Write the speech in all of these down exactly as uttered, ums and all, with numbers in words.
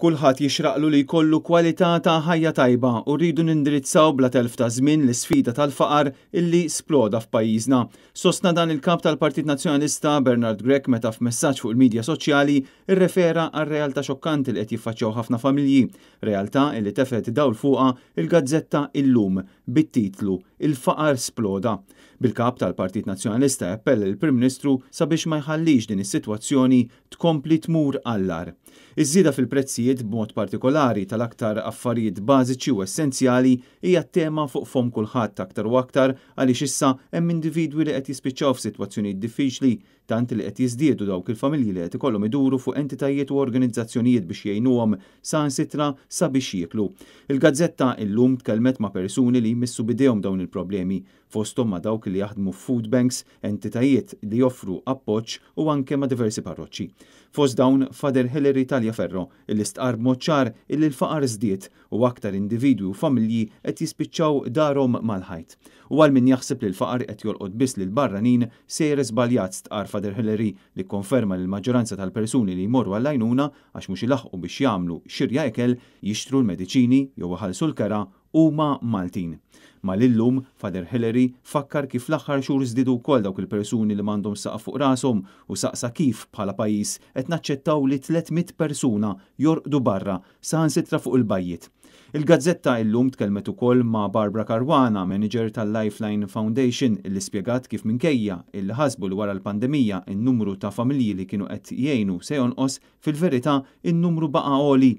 Kulħadd jixraqlu li jkollu kwalità ta' ħajja tajba u rridu nindirizzaw bla telf ta' żmien l-isfida tal-faqar illi sploda f'pajjiżna. Sostna dan il-kap tal-Partit Nazzjonalista Bernard Grech meta f'messaġġ fuq il-midja soċjali irrefera għal realtà xokkanti li qed jiffaċċjaw ħafna familji, realtà illi tefgħet dawl fuqha il-gazzetta Illum bit-titlu "Il-faqar sploda". Bil-kap tal-Partit Nazzjonalista appella lill-Prim Ministru sabiex ma jħallix din is-sitwazzjoni tkompli tmur għall-agħar. Iż-żieda fil-prezzijiet, b'mod partikolari tal-aktar affarijiet bażiċi u essenzjali, hija tema fuq fomm kulħadd, aktar u aktar għaliex issa hemm individwi li qed jispiċċaw f'sitwazzjonijiet diffiċli, tant li qed jiżdiedu dawk il-familji li qed ikollhom iduru fuq entitajiet u organizzazzjonijiet biex jgħinuhom saħansitra sabiex jieklu. Il-gazzetta Illum tkellmet ma' persuni li jmissu b'idejhom dawn il-problemi, fosthom ma' dawk li jaħdmu food banks, entitajiet li joffru appoġġ u anke ma' diversi parroċċi. Fost dawn Father Hilary Tagliaferro, illi stqar b'mod ċar illi l-faqar żdied u aktar individwi u familji qed jispiċċaw darhom mal-ħajt. U għal min jaħseb li l-faqar qed jolqot biss lil barranin, sejjer żbaljat, stqar Father Hilary, li konferma li l-maġġoranza tal-persuni li jmorru għall-għajnuna għax mhux ilaħqu biex jagħmlu xirja ikel, jixtru l-mediċini jew iħallsu l-kera huma Maltin. Mal-Illum, Father Hilary fakkar kif l-aħħar xhur żdiedu wkoll dawk il-persuni li m'għandhom saqaf fuq rashom u saqsa kif bħala pajjiż qed naċċettaw li tliet mitt persuna jorqdu barra, saħansitra fuq il-bajjiet. Il-gazzetta Illum tkellmet ukoll ma' Barbara Caruana, manager tal-Lifeline Foundation, illi spjegat kif minkejja illi ħasbu li wara l-pandemija in-numru ta' familji li kienu qed jgħinu se jonqos, fil-verità in-numru baqa' għoli.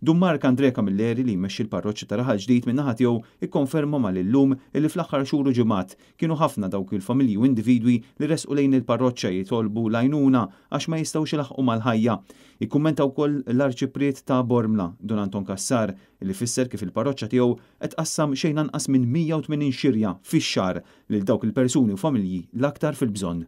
Dun Mark Andre Camilleri, li jmexxi l-parroċċa ta' Raħal Ġdid, min-naħa tiegħu ikkonferma mal-Illum illi fl-aħħar xhur u ġimgħat kienu ħafna dawk il-familji u individwi li resqu lejn il-parroċċa jitolbu l-għajnuna għax ma jistgħux ilaħqu mal-ħajja. Ikkummenta wkoll l-Arċipriet ta' Bormla, Dun Anton Cassar, li fisser kif il-parroċċa tiegħu qed tqassam xejn anqas minn mija u tmenin xirja fix-xahar lil dawk il-persuni u familji l-aktar fil-bżonn.